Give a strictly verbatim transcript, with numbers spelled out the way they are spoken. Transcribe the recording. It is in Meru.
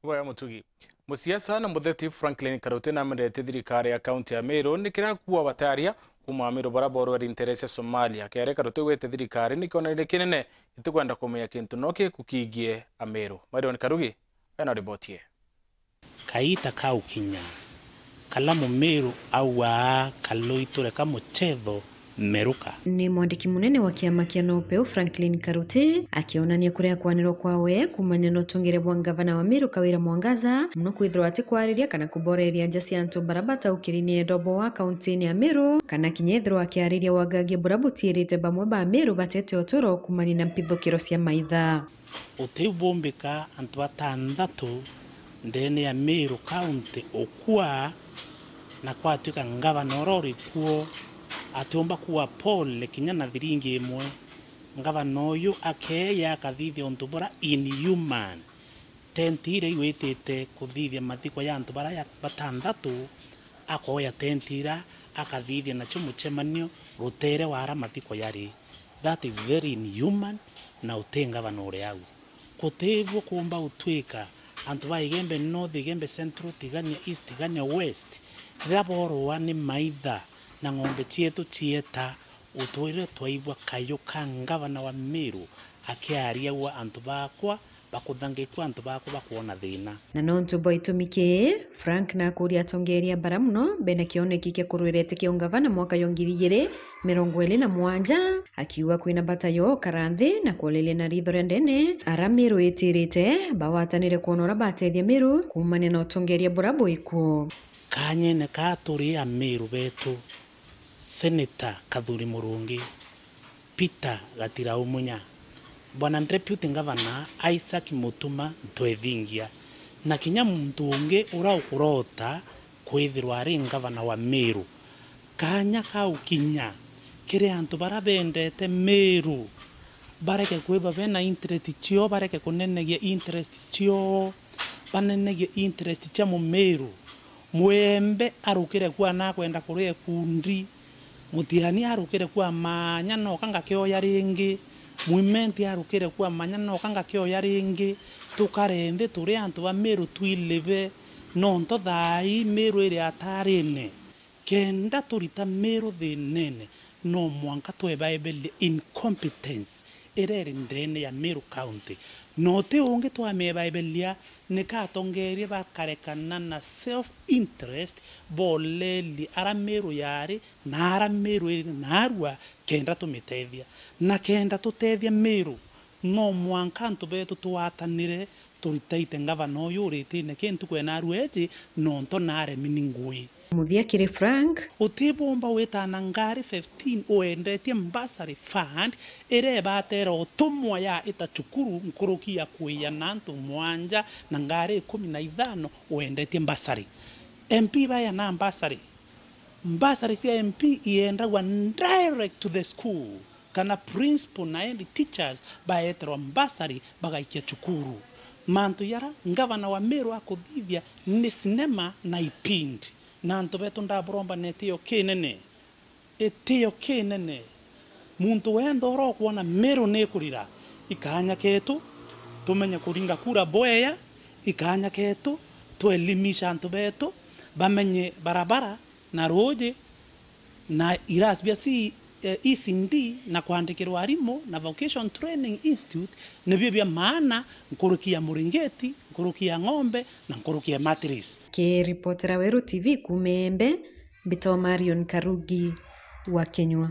Boya Mutugi. Musiasa na mutheti Franklin Karuti namendetie thirikari ya kaunti ya Meru ni kiria kuwa bataria kuuma Meru bara borweri ntere cia Somalia. Kiaria Karuti gwite thirikari ni kionanire kinene itikwenda kumenya kintu no kiku kigie Ameru. Marion Karugi ena riboti ye. Kaita kau kinya, kala Mumiru auaa kalui tureka muchetho meruka. Ni mwandiki munene wa kiama kia Nopeu Franklin Karuti akionania kuria kwanirwa kwawe kuumania na utongeria bwa ngavana wa Meru Kawira Mwangaza, muno kwithirwa atikwariria kana kuboreria nja cia antu bara bataukiri ni endobo wa kaunti-ini ya Meru, kana kinya ethirwa akiariria wagagia bura butiirite bamwe ba Meru batete uturo kuumania na mpithukiro cia maitha. Utiu bumbika antu batanthatu ndene ya Meru County ukua, na kwatuika ngavana uria uri kuo atiumba kuwa pole kinya na thiringi imwe. Ngavana uyu akeeya akathithia untu bura inhuman. Tenti iria igwitite kuthithia mathiko ya antu bara ya-, batanthatu, akoya tenti ira akathithia nacio mucemanio rutere wa ara mathiko yari. That is very inhuman, na uti ngavana uri au. Gutibuo kuumba gutwika antu ba Igembe North, Igembe Central, Tigania East, Tigania West, riria borua ni maitha na ng'ombe cietu cieta, utwire twaigua kayu ka ngavana wa Meru akiaria gwa antu bakwa bakuthangikua, antu bakwa bakwona thina. Na nontu bwa itumi kii, Frank nakuria atongeria bara muno bena kioneki kia kurwira iti kia ungavana mwaka jwa ngiri igiri mirongo iri na mugwanja, akiuga kwina bata yo ukara nthi na kuoreria na ritho ria ndene ara Meru itirite bagwatanire kwona uria batethia Meru kuumania na utongeria bura bwikuo. Kanyene kaa turi Ameru betu, Senator Kathuri Murungi, Peter Gatiraumunya, Bwana Deputy Governor Isaac Mutuma Ntwethingia, na kinya muntu ungi uria ukurota kwithirwa ari ngavana wa Meru. Kanya kau kinya kiri antu bara bendete Meru, bareke kwithwa bena interest cio, bareke kunenegia interest cio, banenegie interest cia Mumeru. Mwembe arukire kua na akwenda kuria ikundi. Mutiani arukire kua manya noka ngakioya ringi. Mwimenti arukire kua manya noka ngakioya ringi. Tukare nthi turi antu ba Meru twilive. Nontu thaa ii Meru iri atarine. Kenda turita Meru thinene, no mwanka twebaebelia incompetence iria iri ndene ya Meru County. Na uti ungi twamiebaebelia, ni ka atongeria bakarekana na self interest, bolelie ara Meru yari na ara Meru iri naarua, kenda tumitethia. Na kenda tutethia Meru, no mwanka antu betu twatanire, turitaite ngavana uyu uritine ki ntuku ya naarua iji, nontu naaremi ni ngui. Muthia kiri Frank. Utibumba witana ngari fifteen uendetie bursary fund iria ibatera utumwa ya ita cukuru nkuruki ya kuiana antu mwanja na ngari ikumi na ithano uendetie bursary. M P baeana bursary. Bursary cia M P iendagwa direct to the school, kana principal na head teachers baeterwa bursary bagaikia cukuru. Mantu yara ngavana wa Meru akuthithia ni cinema na ipindi. Na antu betu ndaburomba na itio kinene. Itio kinene. Muntu wenda uria ukwona Meru ni ikurira, ikanya ketu, tumenye kuringa kura bweya, ikanya ketu, tuelimisha antu betu, bamenye barabara na ruuji, na irasi bia C-, eh, E C D na kwandikirwa arimu na Vocation Training Institute, nibio bia maana nkuruki ya muringiti, nkuruki ya ng'ombe na nkuruki ya mattress. Kiripotera Weru T V kuuma Embe, mbitwa Marion Karugi wa Kinyua.